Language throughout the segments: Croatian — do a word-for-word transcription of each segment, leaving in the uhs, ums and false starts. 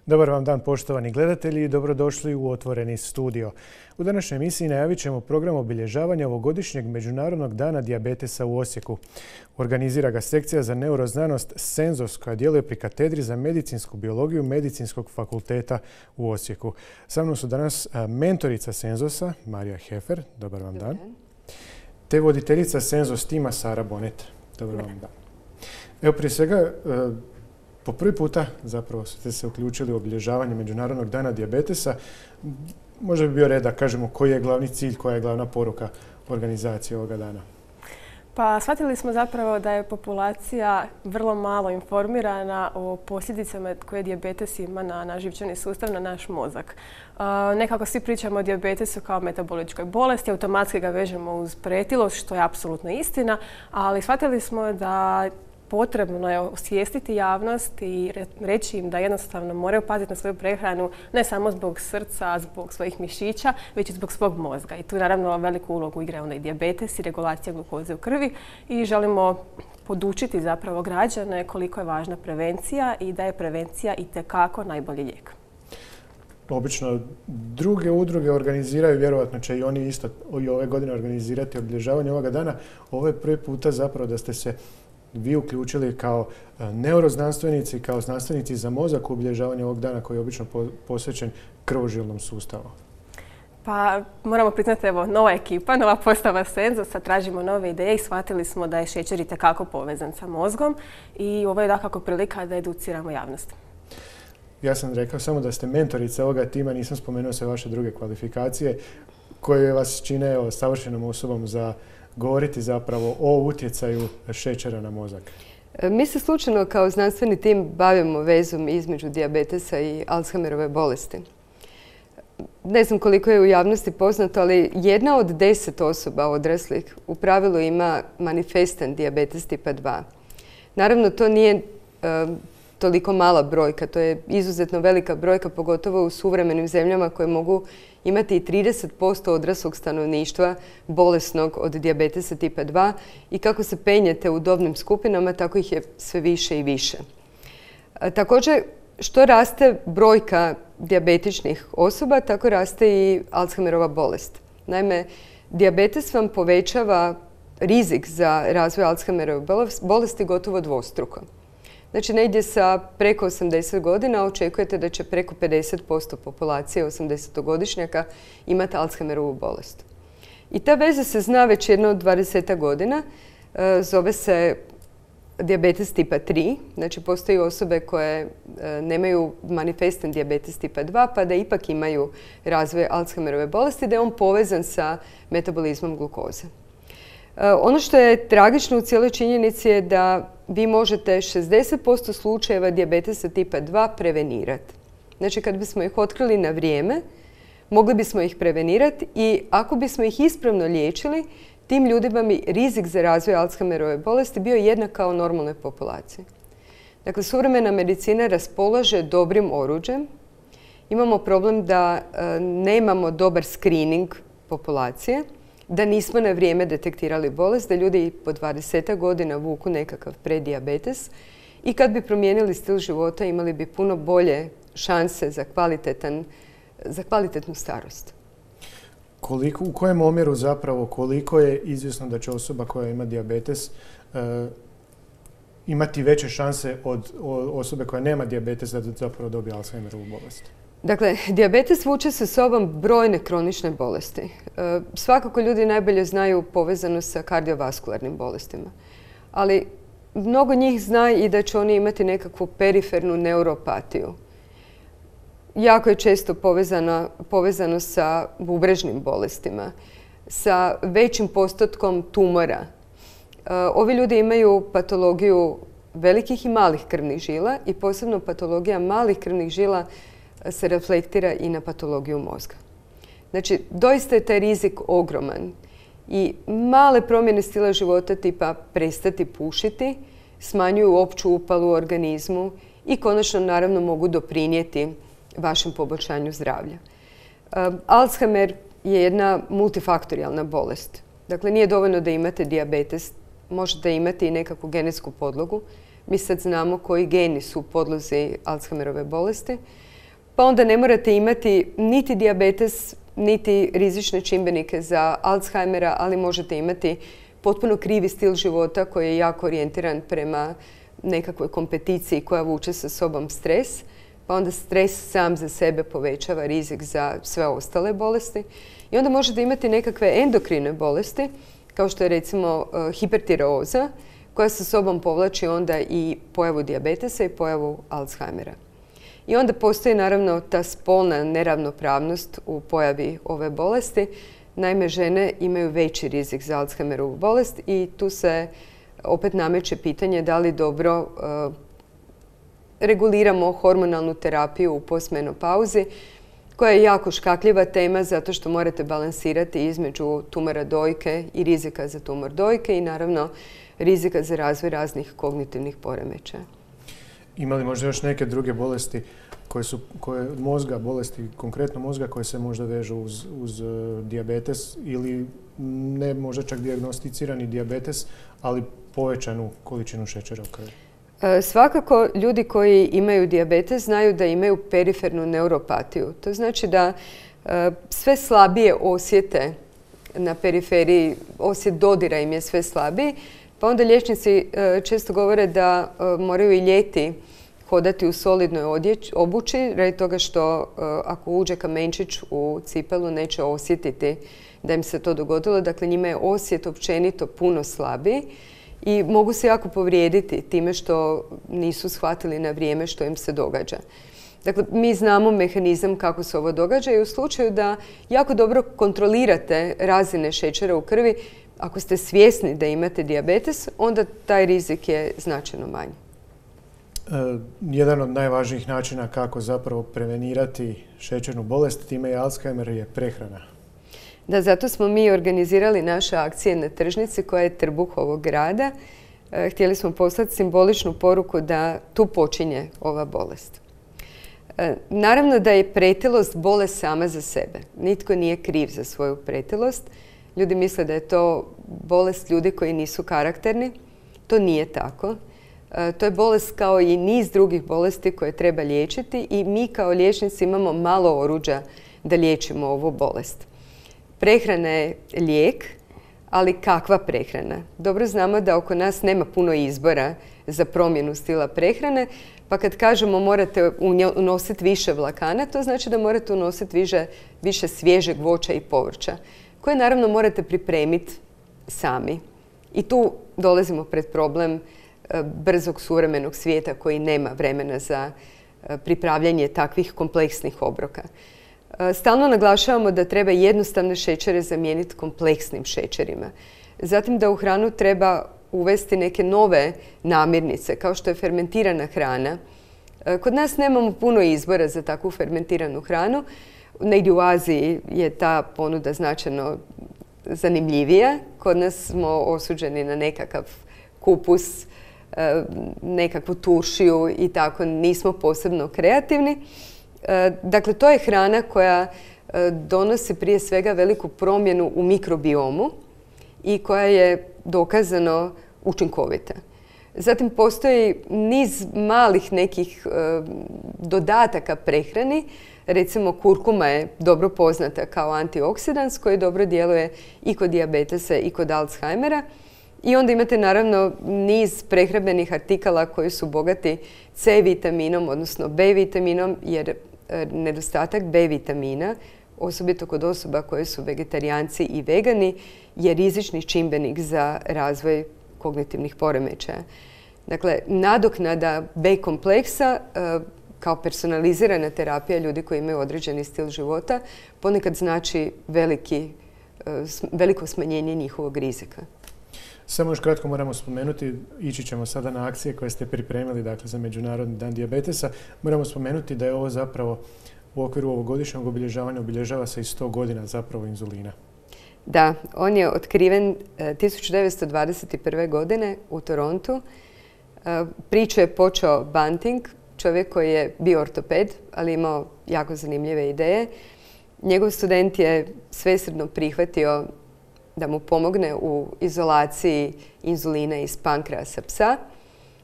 Dobar vam dan, poštovani gledatelji, i dobrodošli u Otvoreni studio. U današnjoj emisiji najavit ćemo program obilježavanja ovogodišnjeg Međunarodnog dana dijabetesa u Osijeku. Organizira ga sekcija za neuroznanost Senzos koja djeluje pri katedri za medicinsku biologiju Medicinskog fakulteta u Osijeku. Sa mnom su danas mentorica Senzosa, Marija Hefer, dobar vam dan, te voditeljica Senzos tima Sara Bonet. Dobar vam dan. Evo, prije svega, po prvi puta zapravo ste se uključili u obilježavanje Međunarodnog dana dijabetesa. Možda bi bio red da kažemo koji je glavni cilj, koja je glavna poruka organizacije ovoga dana. Pa shvatili smo zapravo da je populacija vrlo malo informirana o posljedicama koje dijabetes ima na naš živčani sustav, na naš mozak. Uh, nekako svi pričamo o dijabetesu kao metaboličkoj bolesti, automatski ga vežemo uz pretilost, što je apsolutno istina, ali shvatili smo da potrebno je osvijestiti javnost i reći im da jednostavno moraju paziti na svoju prehranu ne samo zbog srca, zbog svojih mišića, već i zbog svog mozga. I tu naravno veliku ulogu igra onda i dijabetes i regulacija glukoze u krvi i želimo podučiti zapravo građane koliko je važna prevencija i da je prevencija itekako najbolji lijek. Obično druge udruge organiziraju, vjerojatno će i oni isto i ove godine organizirati obilježavanje ovoga dana. Ovo je prvi puta zapravo da ste se vi uključili kao neuroznanstvenici, kao znanstvenici za mozak u obilježavanje ovog dana koji je obično posvećen krvožilnom sustavu. Pa moramo priznati, evo, nova ekipa, nova postava Senzosa, tražimo nove ideje i shvatili smo da je šećer itekako povezan sa mozgom i ovo je dakako prilika da educiramo javnost. Ja sam rekao samo da ste mentorica ovoga tima, nisam spomenuo sve vaše druge kvalifikacije koje vas čine evo, savršenom osobom za govoriti zapravo o utjecaju šećera na mozak. Mi se slučajno kao znanstveni tim bavimo vezom između dijabetesa i Alzheimerove bolesti. Ne znam koliko je u javnosti poznato, ali jedna od deset osoba odraslih u pravilu ima manifestan dijabetes tipa dva. Naravno, to nije e, toliko mala brojka, to je izuzetno velika brojka, pogotovo u suvremenim zemljama koje mogu imati i trideset posto odraslog stanovništva bolesnog od dijabetesa tipa dva i kako se penjete u dobnim skupinama, tako ih je sve više i više. Također, što raste brojka dijabetičnih osoba, tako raste i Alzheimerova bolest. Naime, dijabetes vam povećava rizik za razvoj Alzheimerove bolesti gotovo dvostruko. Znači, negdje sa preko osamdeset godina očekujete da će preko pedeset posto populacije osamdesetogodišnjaka imati Alzheimerovu bolest. I ta veza se zna već jedno od dvadesetak godina. Zove se dijabetes tipa tri. Znači, postoji osobe koje nemaju manifestan dijabetes tipa dva, pa da ipak imaju razvoj Alzheimerove bolesti, da je on povezan sa metabolizmom glukoze. Ono što je tragično u cijeloj činjenici je da vi možete šezdeset posto slučajeva dijabetesa tipa dva prevenirati. Znači, kad bismo ih otkrili na vrijeme, mogli bismo ih prevenirati i ako bismo ih ispravno liječili, tim ljudima bi rizik za razvoj Alzheimerove bolesti bio jednak kao normalnoj populaciji. Dakle, suvremena medicina raspolaže dobrim oruđem. Imamo problem da e, nemamo dobar screening populacije, da nismo na vrijeme detektirali bolest, da ljudi po dvadesetak godina vuku nekakav predijabetes i kad bi promijenili stil života imali bi puno bolje šanse za, kvalitetan, za kvalitetnu starost. Koliko, u kojem omjeru zapravo, koliko je izvjesno da će osoba koja ima dijabetes e, imati veće šanse od osobe koja nema dijabetes da zapravo dobije Alzheimerovu bolest? Dakle, dijabetes vuče sa sobom brojne kronične bolesti. E, svakako ljudi najbolje znaju povezanost sa kardiovaskularnim bolestima. Ali mnogo njih zna i da će oni imati nekakvu perifernu neuropatiju. Jako je često povezano, povezano sa bubrežnim bolestima, sa većim postotkom tumora. E, ovi ljudi imaju patologiju velikih i malih krvnih žila i posebno patologija malih krvnih žila se reflektira i na patologiju mozga. Znači, doista je taj rizik ogroman i male promjene stila života tipa prestati pušiti smanjuju opću upalu u organizmu i konačno naravno mogu doprinijeti vašem poboljšanju zdravlja. Alzheimer je jedna multifaktorijalna bolest. Dakle, nije dovoljno da imate dijabetes, možete imati i nekakvu genetsku podlogu. Mi sad znamo koji geni su u podlozi Alzheimerove bolesti. pa onda ne morate imati niti dijabetes, niti rizične čimbenike za Alzheimera, ali možete imati potpuno krivi stil života koji je jako orijentiran prema nekakvoj kompeticiji koja vuče sa sobom stres, pa onda stres sam za sebe povećava rizik za sve ostale bolesti. I onda možete imati nekakve endokrine bolesti, kao što je recimo hipertireoza, koja sa sobom povlači onda i pojavu dijabetesa i pojavu Alzheimera. I onda postoji naravno ta spolna neravnopravnost u pojavi ove bolesti. Naime, žene imaju veći rizik za Alzheimerovu bolest i tu se opet nameće pitanje da li dobro uh, reguliramo hormonalnu terapiju u postmenopauzi, koja je jako škakljiva tema zato što morate balansirati između tumora dojke i rizika za tumor dojke i naravno rizika za razvoj raznih kognitivnih poremećaja. Ima li možda još neke druge bolesti koje su koje, mozga, bolesti konkretno mozga koje se možda vežu uz, uz uh, dijabetes ili ne možda čak dijagnosticirani dijabetes, ali povećanu količinu šećera u krvi? E, svakako ljudi koji imaju dijabetes znaju da imaju perifernu neuropatiju. To znači da e, sve slabije osjete na periferiji, osjet dodira im je sve slabiji, pa onda liječnici e, često govore da e, moraju i ljeti hodati u solidnoj odjeć, obući, radi toga što e, ako uđe kamenčić u cipelu neće osjetiti da im se to dogodilo. Dakle, njima je osjet općenito puno slabiji i mogu se jako povrijediti time što nisu shvatili na vrijeme što im se događa. Dakle, mi znamo mehanizam kako se ovo događa i u slučaju da jako dobro kontrolirate razine šećera u krvi, ako ste svjesni da imate dijabetes, onda taj rizik je značajno manji. E, jedan od najvažnijih načina kako zapravo prevenirati šećernu bolest, time je Alzheimer, je prehrana. Da, zato smo mi organizirali naše akcije na tržnici koja je trbuh ovog grada. E, htjeli smo poslati simboličnu poruku da tu počinje ova bolest. E, naravno da je pretilost bolest sama za sebe. Nitko nije kriv za svoju pretilost. Ljudi misle da je to bolest ljudi koji nisu karakterni. To nije tako. E, to je bolest kao i niz drugih bolesti koje treba liječiti i mi kao liječnici imamo malo oruđa da liječimo ovu bolest. Prehrana je lijek, ali kakva prehrana? Dobro znamo da oko nas nema puno izbora za promjenu stila prehrane, pa kad kažemo morate unositi više vlakana, to znači da morate unositi više, više svježeg voća i povrća, koje naravno morate pripremiti sami. I tu dolazimo pred problem brzog suvremenog svijeta koji nema vremena za pripravljanje takvih kompleksnih obroka. Stalno naglašavamo da treba jednostavne šećere zamijeniti kompleksnim šećerima. Zatim da u hranu treba uvesti neke nove namirnice, kao što je fermentirana hrana. Kod nas nemamo puno izbora za takvu fermentiranu hranu. Negdje u Aziji je ta ponuda značajno zanimljivija. Kod nas smo osuđeni na nekakav kupus, nekakvu turšiju i tako nismo posebno kreativni. Dakle, to je hrana koja donosi prije svega veliku promjenu u mikrobiomu i koja je dokazano učinkovita. Zatim postoji niz malih nekih dodataka prehrani. Recimo, kurkuma je dobro poznata kao antioksidans koji dobro djeluje i kod dijabetesa i kod Alzheimera. I onda imate naravno niz prehrambenih artikala koji su bogati C vitaminom, odnosno B vitaminom, jer nedostatak B vitamina, osobito kod osoba koje su vegetarijanci i vegani, je rizični čimbenik za razvoj kognitivnih poremećaja. Dakle, nadoknada B kompleksa kao personalizirana terapija ljudi koji imaju određeni stil života ponekad znači veliki, veliko smanjenje njihovog rizika. Samo još kratko moramo spomenuti, ići ćemo sada na akcije koje ste pripremili, dakle, za Međunarodni dan dijabetesa. Moramo spomenuti da je ovo zapravo u okviru ovogodišnjeg obilježavanja obilježava se i sto godina zapravo inzulina. Da, on je otkriven tisuću devetsto dvadeset prve. godine u Torontu. Priču je počeo Banting, čovjek koji je bio ortoped, ali imao jako zanimljive ideje. Njegov student je svesrdno prihvatio da mu pomogne u izolaciji inzulina iz pankreasa psa.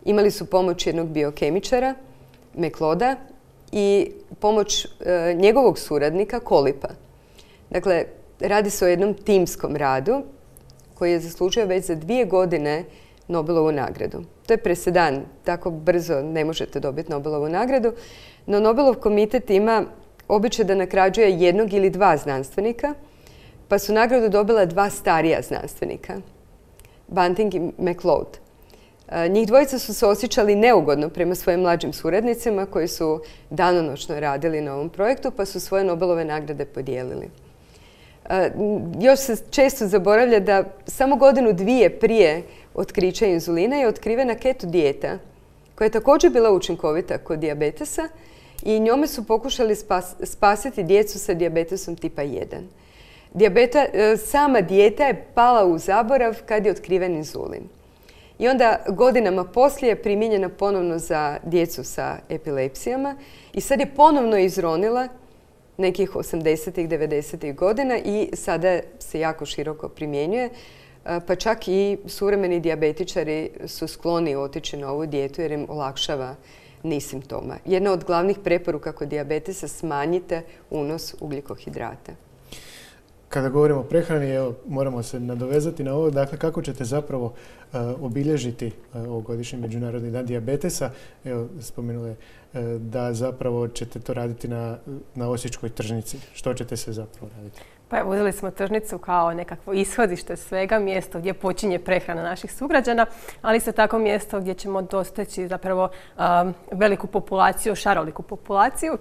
Imali su pomoć jednog biokemičara, Mekloda, i pomoć njegovog suradnika Kolipa. Dakle, radi se o jednom timskom radu koji je zaslužio već za dvije godine Nobelovu nagradu. To je presedan, tako brzo ne možete dobiti Nobelovu nagradu, no Nobelov komitet ima običaj da nagrađuje jednog ili dva znanstvenika, pa su nagradu dobila dva starija znanstvenika, Bunting i MacLeod. Njih dvojica su se osjećali neugodno prema svojim mlađim suradnicima koji su danonoćno radili na ovom projektu, pa su svoje Nobelove nagrade podijelili. Još se često zaboravlja da samo godinu dvije prije otkrića inzulina je otkrivena keto dijeta, koja je također bila učinkovita kod dijabetesa i njome su pokušali spas, spasiti djecu sa dijabetesom tipa jedan. Dijabeta, sama dijeta je pala u zaborav kad je otkriven inzulin. I onda godinama poslije je primijenjena ponovno za djecu sa epilepsijama i sad je ponovno izronila nekih osamdesetih, devedesetih godina i sada se jako široko primjenjuje. Pa čak i suvremeni dijabetičari su skloni otići na ovu dijetu jer im olakšava niz simptoma. Jedna od glavnih preporuka kod dijabetesa: smanjite unos ugljikohidrata. Kada govorimo o prehrani, evo, moramo se nadovezati na ovo. Dakle, kako ćete zapravo uh, obilježiti uh, ovogodišnji Međunarodni dan dijabetesa? Evo, spomenuli uh, da zapravo ćete to raditi na, na Osječkoj tržnici. Što ćete se zapravo raditi? Pa evo, uzeli smo tržnicu kao nekakvo ishodište svega, mjesto gdje počinje prehrana naših sugrađana, ali isto tako mjesto gdje ćemo dosteći zapravo um, veliku populaciju, šaroliku populaciju.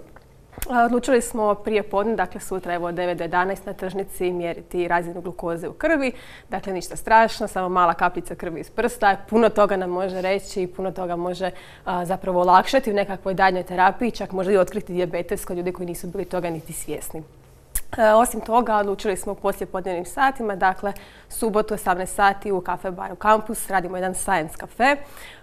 Odlučili smo prije podne, dakle sutra evo od devet do jedanaest na tržnici mjeriti razinu glukoze u krvi. Dakle, ništa strašno, samo mala kapljica krvi iz prsta. Puno toga nam može reći i puno toga može a, zapravo olakšati u nekakvoj daljnjoj terapiji, čak možda i otkriti dijabetes kod ljudi koji nisu bili toga niti svjesni. E, osim toga, odlučili smo u poslijepodnevnim satima, dakle subotu osamnaest sati u kafe baru Kampus radimo jedan science kafe.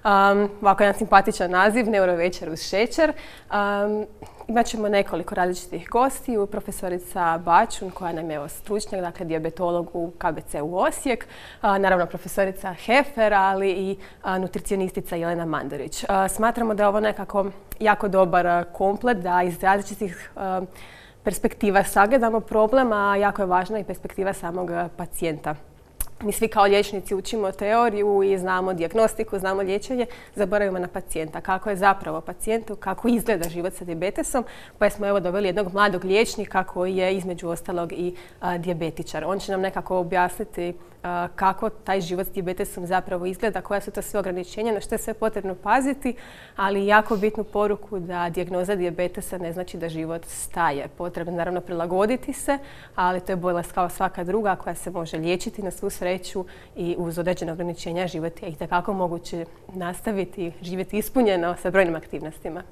Um, ovako jedan simpatičan naziv, neurovečer uz šećer. Um, Imat ćemo nekoliko različitih gostiju, profesorica Bačun koja nam je stručnjak, dakle dijabetolog u K B C u Osijek, a, naravno profesorica Hefer, ali i a, nutricionistica Jelena Mandarić. A, smatramo da je ovo nekako jako dobar a, komplet da iz različitih a, perspektiva sagledamo problem, a jako je važna i perspektiva samog pacijenta. Mi svi kao liječnici učimo teoriju i znamo dijagnostiku, znamo liječenje, zaboravimo na pacijenta. Kako je zapravo pacijentu, kako izgleda život sa dijabetesom, pa smo evo doveli jednog mladog liječnika koji je između ostalog i a, dijabetičar. On će nam nekako objasniti a, kako taj život s dijabetesom zapravo izgleda, koja su to sve ograničenja, na što je sve potrebno paziti, ali jako bitnu poruku da dijagnoza dijabetesa ne znači da život staje. Potrebno naravno prilagoditi se, ali to je bolest kao svaka druga koja se može liječiti na svu sreću i uz određene ograničenja život je itekako moguće nastaviti živjeti ispunjeno sa brojnim aktivnostima.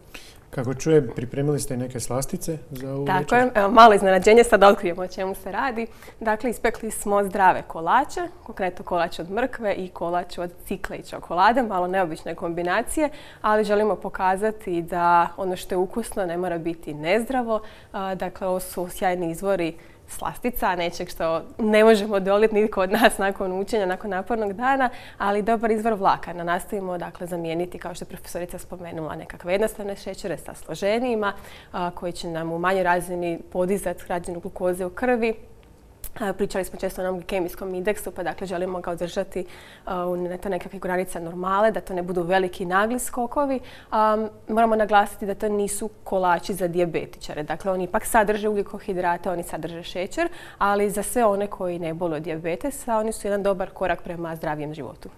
Kako čujem, pripremili ste i neke slastice za ovu večer? Tako je, evo, malo iznenađenje, sad otkrijemo o čemu se radi. Dakle, ispekli smo zdrave kolače, konkretno kolač od mrkve i kolač od cikle i čokolade, malo neobične kombinacije, ali želimo pokazati da ono što je ukusno ne mora biti nezdravo. Dakle, ovo su sjajni izvori slastica, nečeg što ne možemo odoliti nitko od nas nakon učenja, nakon napornog dana, ali dobar izvor vlakana. Nastavimo dakle zamijeniti, kao što je profesorica spomenula, nekakve jednostavne šećere sa složenijima a, koji će nam u manjoj razini podizati razinu glukoze u krvi. Pričali smo često o onom glikemijskom indeksu, pa dakle želimo ga održati u nekakve granice normale, da to ne budu veliki nagli skokovi. Um, moramo naglasiti da to nisu kolači za dijabetičare. Dakle, oni ipak sadrže ugljikohidrate, oni sadrže šećer, ali za sve one koji ne boluju od dijabetesa, oni su jedan dobar korak prema zdravijem životu.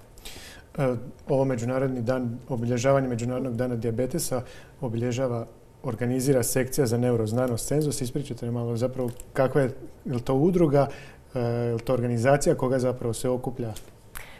Ovo međunarodni dan, obilježavanje Međunarodnog dana dijabetesa obilježava organizira sekcija za neuroznanost Cenzus. Ispričajte malo zapravo kakva je, je li to udruga, je li to organizacija, koga zapravo se okuplja?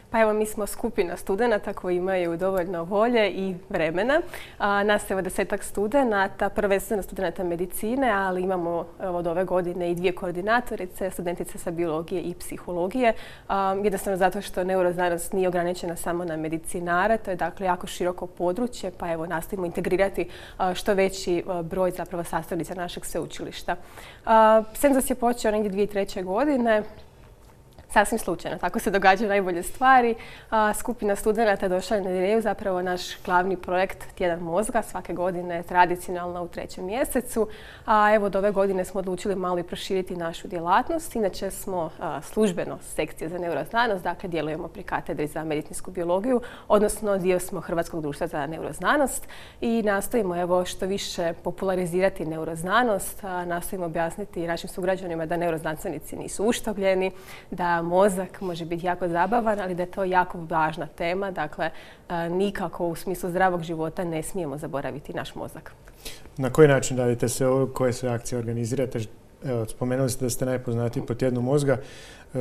Pa evo, mi smo skupina studenata koji imaju dovoljno volje i vremena. A, nas je evo desetak studenata, prvenstveno studenata medicine, ali imamo evo, od ove godine i dvije koordinatorice, studentice sa biologije i psihologije. A, jednostavno zato što neuroznanost nije ograničena samo na medicinare, to je dakle jako široko područje, pa evo nastojimo integrirati a, što veći a, broj zapravo sastavnica našeg sveučilišta. Cenzus je počeo negdje dvije tisuće treće. godine. sasvim slučajno. Tako se događaju najbolje stvari. Skupina studenata je došla na ideju, zapravo naš glavni projekt Tjedan mozga, svake godine tradicionalno u trećem mjesecu. A evo, od ove godine smo odlučili malo i proširiti našu djelatnost. Inače smo službeno sekcija za neuroznanost, dakle djelujemo pri katedri za medicinsku biologiju, odnosno dio smo Hrvatskog društva za neuroznanost i nastojimo evo što više popularizirati neuroznanost, nastojimo objasniti našim sugrađanima da neuroznanstvenici nisu uštogljeni, da mozak može biti jako zabavan, ali da je to jako važna tema. Dakle, nikako u smislu zdravog života ne smijemo zaboraviti naš mozak. Na koji način radite se ovo? Koje sve akcije organizirate? Evo, spomenuli ste da ste najpoznatiji po Tjednu mozga.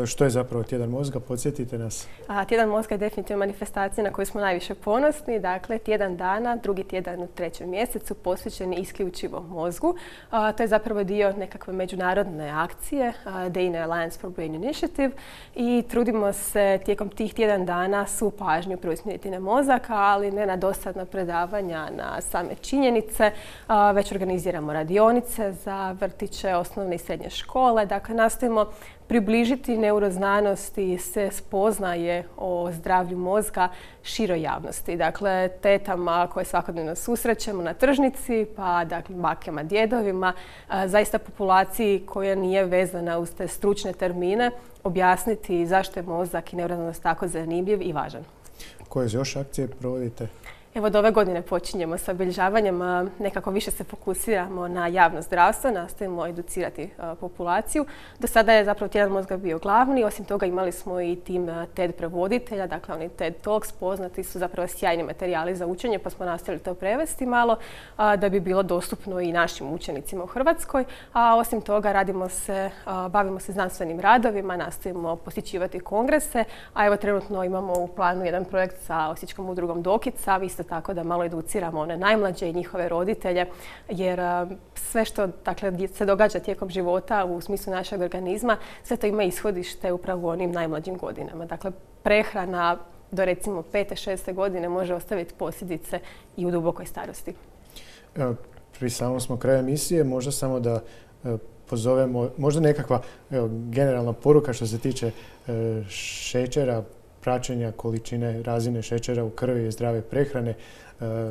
Što je zapravo Tjedan mozga? Podsjetite nas. A, tjedan mozga je definitivno manifestacija na koju smo najviše ponosni. Dakle, tjedan dana, drugi tjedan u trećem mjesecu posvećeni isključivo mozgu. A, to je zapravo dio nekakve međunarodne akcije, Dana Alliance for Brain Initiative, i trudimo se tijekom tih tjedan dana svu pažnju preusmjeriti na mozak, ali ne na dosadna predavanja, na same činjenice, a, već organiziramo radionice za vrtiće, osnovne i srednje škole. Dakle, nastojimo približiti neuroznanost i se spoznaje o zdravlju mozga široj javnosti. Dakle, tetama koje svakodnevno susrećemo na tržnici, pa dakle, bakama, djedovima, zaista populaciji koja nije vezana uz te stručne termine, objasniti zašto je mozak i neuroznanost tako zanimljiv i važan. Koje još akcije provodite? Evo, od ove godine počinjemo sa obilježavanjem, nekako više se fokusiramo na javno zdravstvo, nastojimo educirati populaciju. Do sada je zapravo Tjedan mozga bio glavni, osim toga imali smo i tim TED prevoditelja, dakle oni TED Talks, poznati su zapravo sjajni materijali za učenje, pa smo nastavili to prevesti malo da bi bilo dostupno i našim učenicima u Hrvatskoj. A osim toga radimo se, bavimo se znanstvenim radovima, nastojimo posjećivati kongrese, a evo trenutno imamo u planu jedan projekt sa Osječkom udrugom Dokica, isto tako da malo educiramo one najmlađe i njihove roditelje, jer sve što dakle, se događa tijekom života u smislu našeg organizma, sve to ima ishodište upravo u onim najmlađim godinama. Dakle, prehrana do recimo pete, šeste godine može ostaviti posljedice i u dubokoj starosti. Evo, pri samom smo kraju emisije, možda samo da e, pozovemo, možda nekakva evo, generalna poruka što se tiče e, šećera, praćenja količine razine šećera u krvi i zdrave prehrane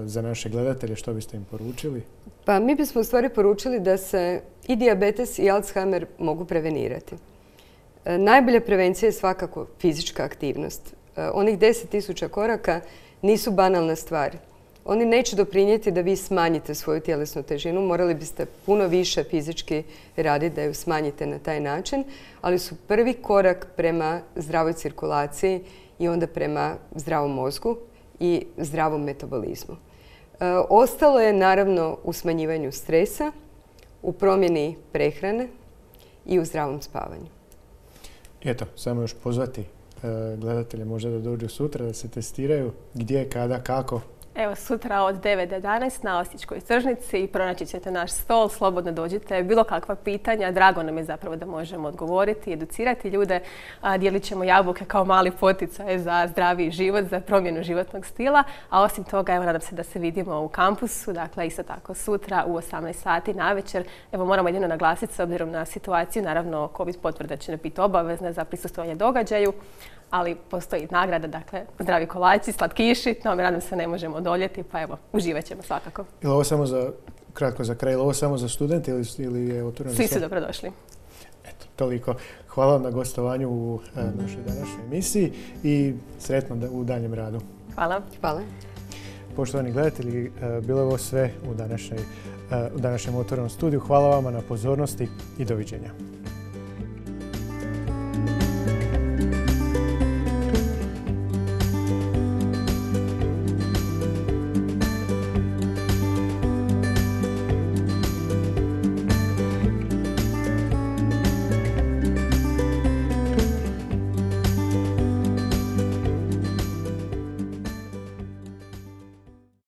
za naše gledatelje, što biste im poručili? Pa mi bismo u stvari poručili da se i dijabetes i Alzheimer mogu prevenirati. Najbolja prevencija je svakako fizička aktivnost. Onih deset tisuća koraka nisu banalna stvar. Oni neće doprinijeti da vi smanjite svoju tjelesnu težinu. Morali biste puno više fizički raditi da ju smanjite na taj način, ali su prvi korak prema zdravoj cirkulaciji i onda prema zdravom mozgu i zdravom metabolizmu. E, ostalo je naravno u smanjivanju stresa, u promjeni prehrane i u zdravom spavanju. Eto, samo još pozvati e, gledatelje možda da dođu sutra, da se testiraju gdje, kada, kako. Evo, sutra od devet do jedanaest na Osječkoj tržnici i pronaći ćete naš stol, slobodno dođite, bilo kakva pitanja, drago nam je zapravo da možemo odgovoriti, educirati ljude, dijelit ćemo jabuke kao mali poticaj za zdraviji život, za promjenu životnog stila, a osim toga, evo, nadam se da se vidimo u kampusu, dakle isto tako sutra u osamnaest sati navečer. Evo, moramo jedino naglasiti s obzirom na situaciju, naravno COVID potvrda će ne biti obavezna za prisustvovanje događaju, ali postoji nagrada, dakle, zdravi kolači, slatkiši, no, nadam se ne možemo odoljeti, pa evo, uživat ćemo svakako. Ili ovo samo za, kratko za kraj, ili ovo samo za studente ili, ili je otvoreno? Svi su dobrodošli. Eto, toliko. Hvala vam na gostovanju u e, našoj današnjoj emisiji i sretno da, u daljem radu. Hvala. Hvala. Poštovani gledatelji, e, bilo je ovo sve u, današnjoj, e, u današnjem otvorenom studiju. Hvala vama na pozornosti i doviđenja.